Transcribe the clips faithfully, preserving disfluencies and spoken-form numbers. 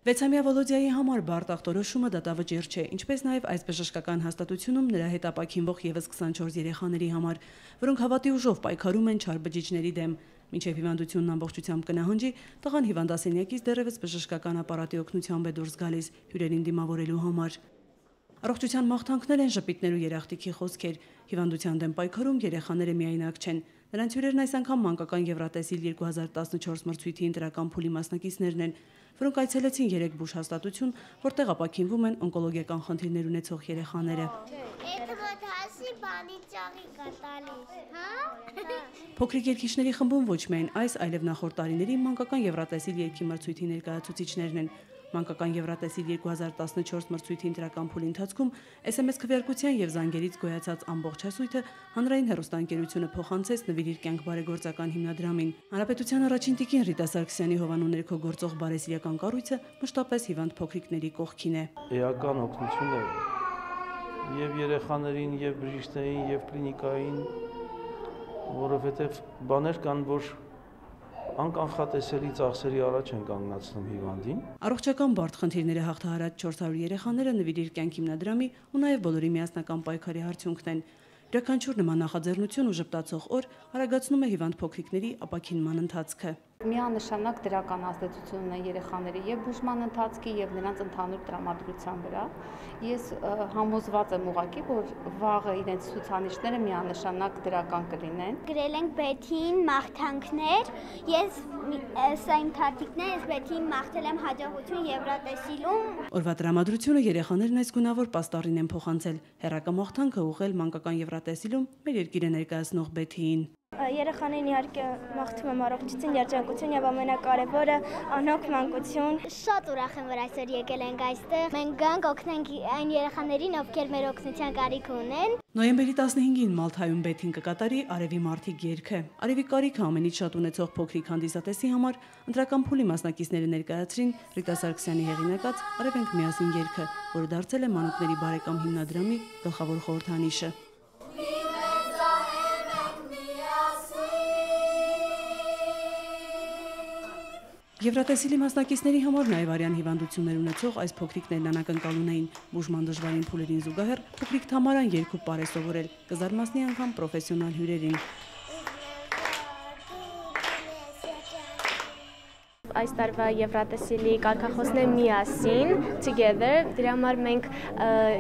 Վեցամյա Վոլոդիայի համար բարդ ախտորոշումը դատավճիռ չէ, ինչպես նաև այս բժշկական հաստատությունում նրա հետ ապաքինվող ևս քսանչորս երեխաների համար, որոնք հավատի ուժով պայքարում են չար բջիջների դեմ։ Մինչև հիվանդությունն ամբողջությամբ կնահանջի, տղան հիվանդասենյակից դեռևս բժշկական ապարատի օգնությամբ է դուրս գալիս հյուրերին դիմավորելու համար։ Առողջության մաղթանքներ են ժպիտներ ու երախտիքի խոսքեր։ Հիվանդության դեմ պայքարում երեխաները միայնակ չեն։ Նրանց հյուրերն այս անգամ մանկական Եվրատեսիլ երկու հազար տասնչորս մրցույթի ընտրական փուլի մասնակիցներն են, որոնք այցելեցին երեք բուժ հաստատություն, որտեղ ապաքինվում են օնկոլոգիական խնդիրներ ունեցող երեխաները։ Փոքրիկ երգիչների խմբում ոչ միայն այս, այլև նախորդ տարիների մանկական Եվրատեսիլ երգի մրցույթի ներկայացուցիչներն են։ Մանկական Եվրատեսիլ երկու հազար տասնչորս մրցույթի ընտրական փուլի ընթացքում էս էմ էս քվեարկության եւ զանգերից գոյացած ամբողջ հասույթը հանրային հեռուստաընկերությունը փոխանցեց «Նվիրիր կյանք» բարեգործական հիմնադրամին։ Հանրապետության առաջին տիկին Ռիտա Սարգսյանի հովանու ներքո գործող բարեսիրական կառույցը մշտապես հիվանդ փոքրիկների կողքին է։ Էական օգնություն է եւ երեխաներին, եւ բժիշկներին, եւ կլինիկային, որովհետեւ բաներ կան, որ անկանխատեսելի ծախսերի առաջ են կանգնացնում հիվանդին։ Առողջական բարդ խնդիրները հաղթահարած չորս հարյուր երեխաները «Նվիրիր կյանք» հիմնադրամի ու նաև բոլորի միասնական պայքարի արդյունքն են։ Յուրաքանչյուր նման նախաձեռնություն ու ժպտացող օր արագացնում է հիվանդ փոքրիկների ապաքինման ընթացքը։ Միանշանակ դրական ազդեցություն ունեն երեխաների եւ բուժման ընթացքի եւ նրանց ընդհանուր տրամադրության վրա։ Ես համոզված եմ ուղղակի, որ վաղը իրենց ցուցանիշները միանշանակ դրական կլինեն։ Գրել ենք Բեթին մաղթանքներ, ես սա իմ թատիկն է, ես Բեթին մաղթել եմ հաջողություն Եվրատեսիլում։ Օրվա տրամադրությունը երեխաներն այս գունավոր պաստառին են փոխանցել։ Հեռակա մաղթանքը ուղղել մանկական Եվրատեսիլում մեր երկիրը ներկայացնող Բեթիին։ Երեխաներին իհարկե մաղթում եմ առողջություն, երջանկություն եւ ամենակարևորը անհոգ մանկություն։ Շատ ուրախ եմ, որ այսօր եկել ենք այստեղ։ Մենք գանք օգնենք այն երեխաներին, ովքեր մեր օգնության կարիք ունեն։ Նոյեմբերի տասնհինգին Մալթայում Բեթին կկատարի Արևի մարդիկ երգը։ Արևի կարիքը ամենից շատ ունեցող փոքրիկ հանդիսատեսի համար ընտրական փուլի մասնակիցները ներկայացրին Ռիտա Սարգսյանի հեղինակած «Արևենք միասին» երգը, որը դարձել է Մանուկների բարեկամ հիմնադրամի գլխավոր խորհրդանիշը։ Եվրատեսիլի մասնակիցների համար նաև արյան հիվանդություններ ունեցող այս փոքրիկներն անակնկալուն էին։ Բուժման դժվարին փուլերին զուգահեռ փոքրիկ Թամարան երգ ու պար է սովորել, կզարմացնի անգամ պրոֆեսիոնալ հյուրերին։ Այս տարվա Եվրատեսիլի կարգախոսն է միասին, together, դրա համար մենք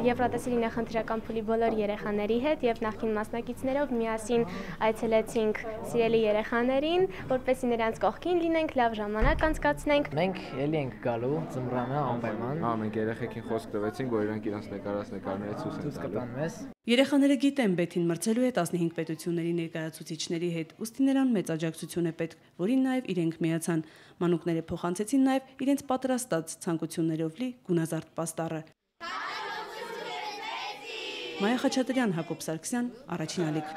Եվրատեսիլի նախընտրական փուլի բոլոր երեխաների հետ եւ նախկին մասնակիցներով միասին այցելեցինք սիրելի երեխաներին, որպեսզի նրանց կողքին լինենք, լավ ժամանակ անցկացնենք։ Մենք ելի ենք գալու ձմռանը անպայման։ Հա, մենք երեխեքին խոսք տվեցինք, որ իրանք իրանց նկարած նկարներից ցույց են տալու։ Երեխաները գիտեն Բեթին մրցելու է տասնհինգ պետությունների ներկայացուցիչների հետ, ուստի նրան մեծ աջակցություն է պետք, որին նաև իրենք միացան։ Մանուկները փոխանցեցին նաև իրենց պատրաստած ցանկություններով լի գունազարդ պաստառը։ Մայա Խաչատրյան, Հակոբ Սարգսյան, Առաջին ալիք։